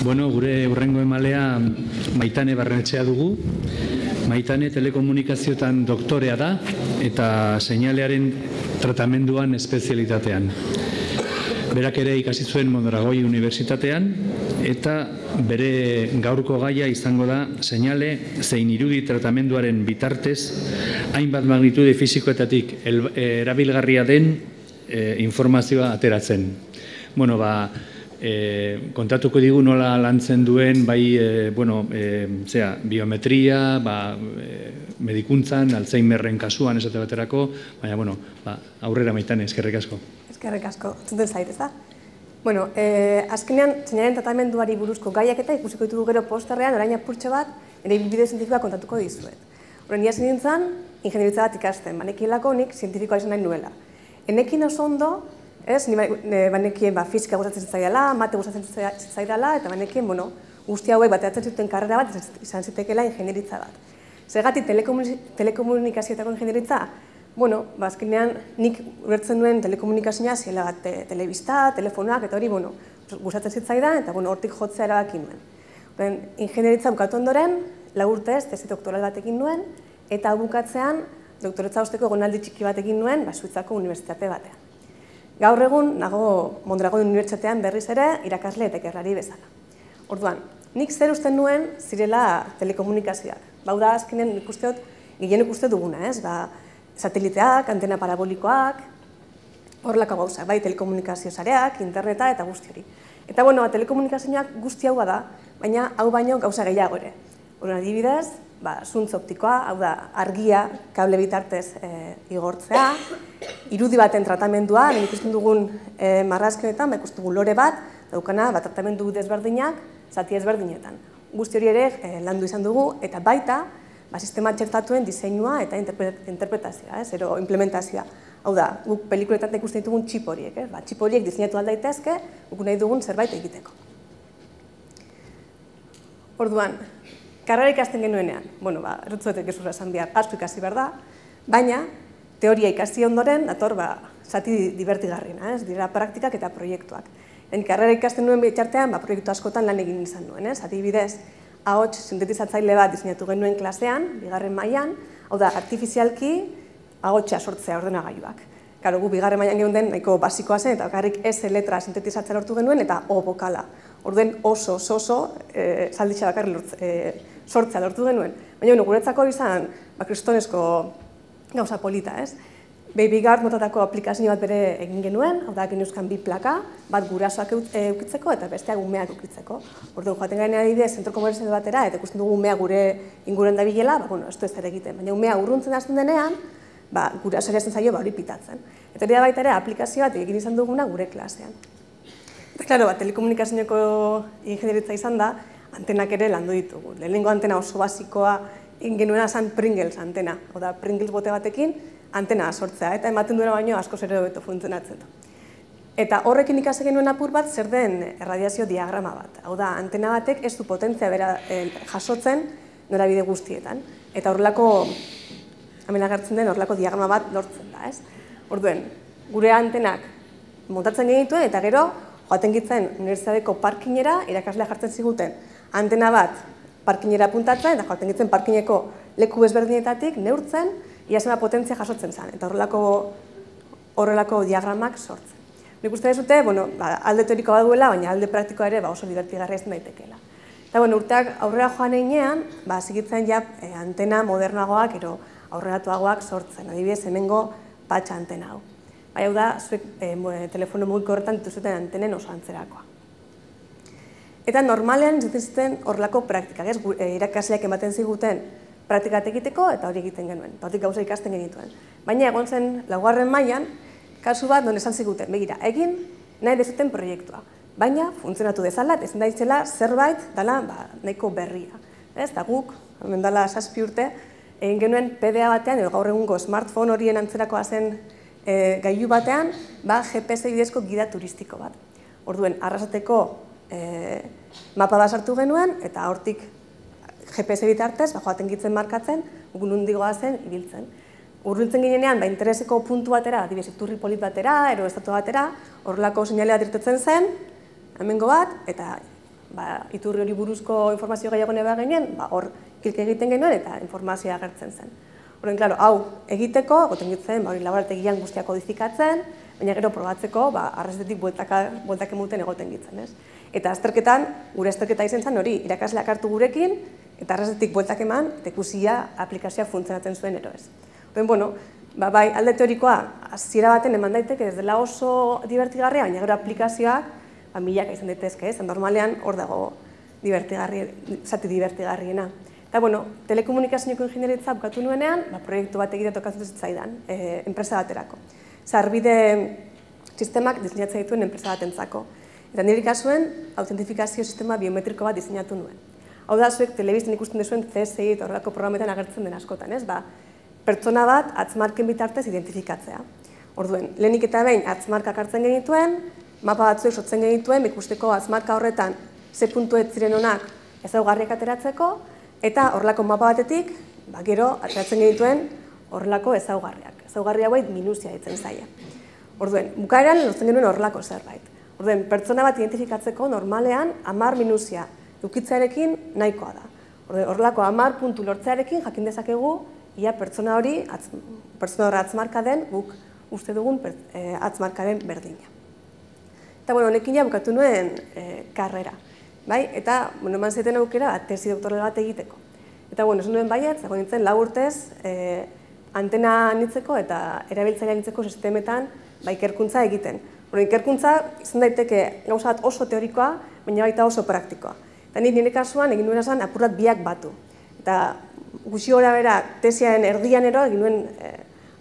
Bueno, gure hurrengo emalea Maitane Barrenetxea dugu. Maitane telekomunikazioetan doktorea da eta seinalearen tratamenduan espezialitatean. Berak ere ikasi zuen Mondragoi Unibertsitatean eta bere gaurko gaia izango da seinale zein irudi tratamenduaren bitartez hainbat magnitude fisikoetatik erabilgarria den informazioa ateratzen. Bueno, kontatuko digu nola lantzen duen biometria, medikuntzan, Alzheimerren kasuan esate baterako, baina aurrera Maitane, eskerrik asko. Eskerrik asko, zuten zait, ez da? Bueno, azkenean, seinaleen tratamenduari buruzko gaiak eta ikusiko ditugu gero posterrean, orain apurtxo bat, ere bideo zientifikoa kontatuko dizuet. Horren ia zen nintzen, ingenieritza bat ikasten, banekielako nik zientifikoa izan nahi nuela. Enekin oso ondo, banekien fisika gustatzen zitzaidala, mate gustatzen zitzaidala, eta banekien, guzti hauek bateratzen zuten karrera bat izan zitekeela ingenieritza bat. Zergatik telekomunikazioetako ingenieritza? Azkenean nik ulertzen duen telekomunikazioa ziela bat telebista, telefonoak, eta hori gustatzen zitzaidan, eta hortik jotzea erabaki nuen. Ingenieritza bukatu ondoren, 4 urtez, tesi doktoral batekin nuen, eta bukatzean, doktoretza osteko egonaldi txiki batekin nuen, Suitzako unibertsitate batean. Gaur egun, nago Mondragoi Unibertsitatean berriz ere, irakasle eta ikerlari bezala. Orduan, nik zer usten nuen zirela telekomunikazioak. Bau da, azkenen ikusteot, gehienek uste duguna, ez? Sateliteak, antena parabolikoak, horrelako gauzak, bai telekomunikazio sareak, interneta eta guzti hori. Eta, telekomunikazioak guzti hau da, baina hau baino gauza gehiago ere. Horren adibidez, zuntz optikoa, hau da, argia kable bitartez igortzea, irudi baten tratamendua, ikusten dugun marrazkioetan, ikusten dugun lore bat, daukana tratamendu desberdinak, zati ezberdinetan. Guzti hori ere landu izan dugu, eta baita, sistema txertatuen diseinua eta interpretazioa, ero implementazioa. Hau da, guk pelikuletan ikusten ditugun txip horiek, txip horiek diseinatu aldaitezke, guk nahi dugun zerbait egiteko. Orduan, karrera ikasten genuenean, errutzuetek gezurra esan behar, asko ikasi behar da, baina teoria ikasi ondoren, dator, zati divertigarriena, dira praktikak eta proiektuak. Karrera ikasten nuen bitxartean, proiektu askotan lan egin izan nuen, adibidez, ahots sintetizatzaile bat diseinatu genuen klasean, 2. mailan, hau da, artifizialki ahotsa sortzea ordenagailuak. Karo, gu 2. mailan geunden nahiko basikoa zen, eta bakarrik S letra sintetizatzea lortu genuen, eta O bokala. Orden oso, zalditxa bakarrik sortzea lortu genuen. Baina, guretzako izan, kristonezko gauza polita, ez? Babygard motatako aplikazio bat bere egin genuen, hau da, geneuzkan 2 plaka, bat gurasoak eukitzeko eta besteak umeak eukitzeko. Orduan, joaten garen adibidez, zentro komerzial batera, eta ikusten dugu umea gure inguruan dabilela, ez du ez ere egiten. Baina umea urruntzen hasten denean, gurasoari hasten zaio hori pitatzen. Eta hori da baita ere, aplikazio bat egin izan duguna gure klasean. Eta, klaro, telekomunikazioeko ingenieritza izan da, antenak ere landu ditugu. Lehenengo antena oso basikoa egin genuena zen Pringles antena. Hau da, Pringles bote batekin, antena sortzea, eta ematen duena baino askoz ere hobeto funtzionatzen du. Eta horrekin ikasi genuen apur bat zer den erradiazio diagrama bat. Hau da, antena batek ez du potentzia bera jasotzen norabide guztietan. Eta horrelako, hemen agertzen den, horrelako diagrama bat lortzen da, ez? Orduen, gure antenak montatzen genituen, eta gero, joaten gitzen unibertsitateko parkinera irakaslea jartzen ziguten. Antena bat parkinera puntatzen, eta joaten gitzen parkineko leku ezberdinetatik neurtzen, ia zema potentzia jasotzen zen, eta horrelako diagramak sortzen. Nik uste dezute, alde teorikoa duela, baina alde praktikoa ere oso divertigarria izan daitekeela. Eta urteak aurrera joan eginean, zigitzen antena modernagoak, aurreratuagoak sortzen. Adibidez, hemengo patxa antena hau. Hau da, zuek telefono mugiko horretan dituzuten antenen oso antzerakoa. Eta normalean zuten horrelako praktikak, irakasleak ematen ziguten praktikat egiteko eta hori egiten genuen, eta hortik gauza ikasten genituen. Baina egon zen 4. mailan, kasu bat non esan ziguten, begira, egin nahi dezuten proiektua. Baina funtzionatu dezala, ezin daitzela zerbait dela nahiko berria. Eta guk, hemen dela 7 urte, egin genuen PDA batean, edo gaur egungo smartphone horien antzerakoa zen gailu batean, GPS bidezko gida turistiko bat. Orduen, arrasateko mapa bat sartu genuen, eta hortik GPS bitartez, joaten gitzen markatzen, gugun hundigoa zen, ibiltzen. Urbiltzen ginenean, intereseko puntu batera, adibidez, iturri polit batera, ero estatu batera, horrelako seinale bat irtetzen zen, hemengo bat, eta iturri hori buruzko informazio gehiago neba ginen, hor klik egiten genuen eta informazioa agertzen zen. Horren, klaro, hau egiteko, goten gitzen, laborategian guztiak kodifikatzen, baina gero probatzeko, arrazetetik bueltak emuten egoten gitzen, ez? Eta azterketan, gure azterketa izen zen hori, irakasleak hartu gurekin, eta arrazetetik bueltak eman, eta ikusia aplikazioa funtzionatzen zuen ero ez. Horren, bueno, bai, alde teorikoa, hasiera baten eman daiteke, ez dela oso divertigarria, baina gero aplikazioak, milaka izan daitezke, ez? Normalean hor dago zati divertigarriena. Eta, bueno, telekomunikazioko ingenieritza bukatu nuenean, proiektu bat egitea tokatzen zitzaidan, enpresa baterako. Sarbide sistemak diseinatzen dituen enpresa batentzako. Eta nire kasuen, autentifikazio sistema biometriko bat diseinatu nuen. Hau da, zuek telebizten ikusten duzuen CSI eta horrelako programetan agertzen den askotan, ez? Pertsona bat atzmarken bitartez identifikatzea. Orduen, lehenik eta behin atzmarkak hartzen genituen, mapa batzuek sortzen genituen, ikusteko atzmarka horretan ze puntu ez ziren honak ezaugarriak ateratzeko, eta horrelako mapa batetik, gero ateratzen genituen horrelako ezaugarriak. Ezaugarri hauek minuzia ditzen zaila. Orduen, bukaeran lortzen genuen horrelako zerbait. Orduen, pertsona bat identifikatzeko normalean 10 minuzia ukitzearekin nahikoa da. Orduen, horrelako 10 puntu lortzearekin jakin dezakegu ia pertsona hori atzmarka den guk uste dugun atzmarkaren berdina. Eta, bueno, honekin bukatu nuen karrera. Eta, eman zaiten aukera, tesi doktoral bat egiteko. Eta, esan nuen baiet, zago nintzen 4 urtez antena anitzeko eta erabiltzaile anitzeko sistemetan ikerkuntza egiten. Ikerkuntza izan daiteke gauza bat oso teorikoa, baina baita oso praktikoa. Eta nire kasuan egin nuen esan apurrat biak batu. Eta gutxi gora bera tesiaren erdian ero egin nuen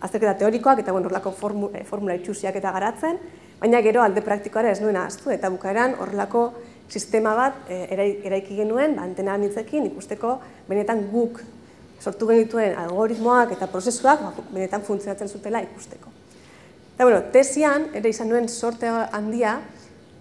azterketa teorikoak eta horrelako formula itxusiak eta garatzen, baina gero alde praktikoara ez nuen ahaztu eta bukaeran horrelako sistema bat eraiki genuen antena anitzekin ikusteko benetan guk sortu genituen algoritmoak eta prozesuak benetan funtzionatzen zutela ikusteko. Eta, tesian ere izan nuen sorte handia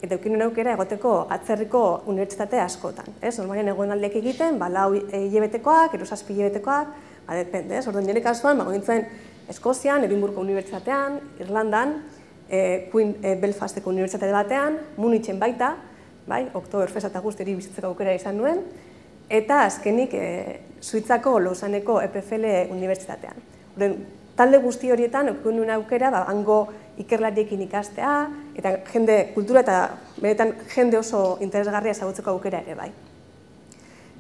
eta eukin nuen aukera egoteko atzerriko unibertsitate askotan. Normalian egonaldiak egiten, 4 hilabetekoak, 7 hilabetekoak, depende. Orduan nire kasuan, nintzen Eskozian, Edinburgko unibertsitatean, Irlandan, Belfasteko unibertsitate batean, Munichen baita, Oktoberfest eta guzti bizitzeko aukera izan nuen, eta azkenik Suitzako Lausaneko EPFL unibertsitatean. Talde guzti horietan eukin nuen aukera hango ikerlariekin ikastea, eta kultura eta benetan jende oso interesgarria ezagutzeko aukera ere bai.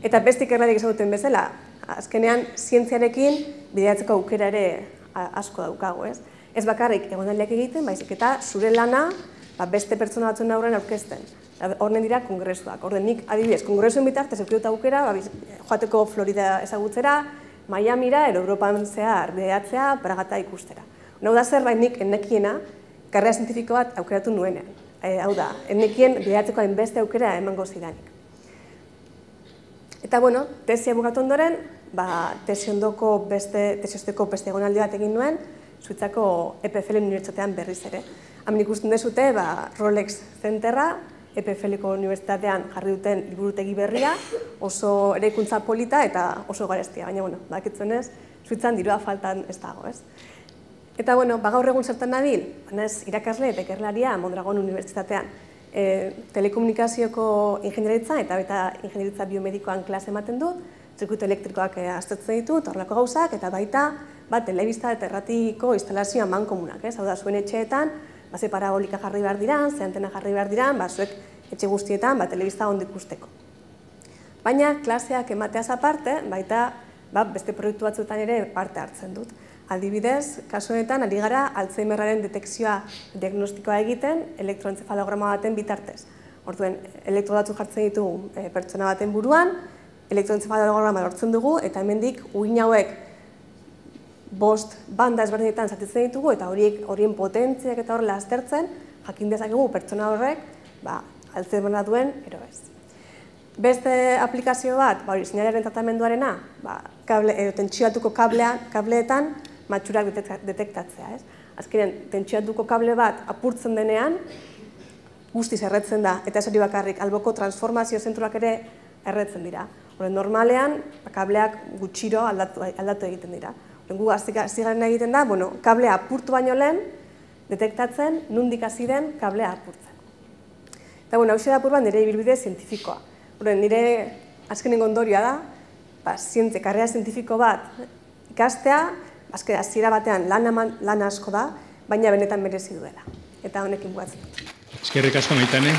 Eta beste ikerlariek ezaguten bezala, azkenean zientziarekin bideatzeko aukera ere asko daukago, ez? Ez bakarrik egonaldiak egiten, baizik eta zure lana beste pertsona batzuen aurrean aurkezten. Horren dira kongresuak. Horren nik adibidez, kongresuen bitartez eukidut aukera joateko Florida ezagutzera, Miamira, Europan zehar bideatzea, Bragata ikustera. Hau da zerbait nik ennekiena karrera zientifiko bat aukeratu nuenean. Hau da, ennekien bideatzeko hainbeste aukera emango zidanik. Eta, tesia bukatu ondoren, tesiosteko beste egonaldi bat egin nuen, Suitzako EPFL unibertsitatean berriz ere. Hemen ikusten dezute, Rolex Centerra, EPFL-ko unibertsitatean jarri duten liburutegi berria, oso eraikuntza polita eta oso garestia, baina, bakitzuenez, Suitzan dirua faltan ez dago, ez? Eta, gaur egun zertan nabil, irakasle eta ikerlaria Mondragon unibertsitatean. Telekomunikazioko ingenieritza eta baita ingenieritza biomedikoan klase ematen dut, zirkuitu elektrikoak aztertzen ditut, horrelako gauzak, eta baita telebista eta erratiko instalazioa mankomunak. Hau da, zuen etxeetan, ze parabolika jarri behar diran, ze antena jarri behar diran, zuek etxe guztietan telebista ondo ikusteko. Baina, klaseak emateaz aparte, baita beste proiektu batzuetan ere parte hartzen dut. Adibidez, kasu honetan, ari gara Alzheimerraren detekzioa diagnostikoa egiten elektroentzefalograma baten bitartez. Orduen, elektro batzuk jartzen ditugu pertsona baten buruan, elektroentzefalograma lortzen dugu, eta hemendik uhin hauek 5 banda ezberdinetan zatitzen ditugu, eta horien potentziak eta horrela aztertzen, jakin dezakegu pertsona horrek Alzheimerra duen ero ez. Beste aplikazio bat, seinalearen tratamenduarena, tentsioatuko kableetan matxurak detektatzea. Azkenean, tentsioatuko kable bat apurtzen denean, guztiz erretzen da, eta ez hori bakarrik, alboko transformazio zentroak ere erretzen dira. Normalean, kableak gutxiro aldatu egiten dira. Gu azigaren egiten da, kablea apurtu baino lehen, detektatzen nondik hasi den kablea apurtzen. Eta hau da apur bat nire ibilbide zientifikoa. Nire azkenengo ondorioa da, karrera zientifiko bat ikastea, hasiera batean lan asko da, baina benetan merezi duela. Eta honekin bukatzen dut. Eskerrik asko, Maitane.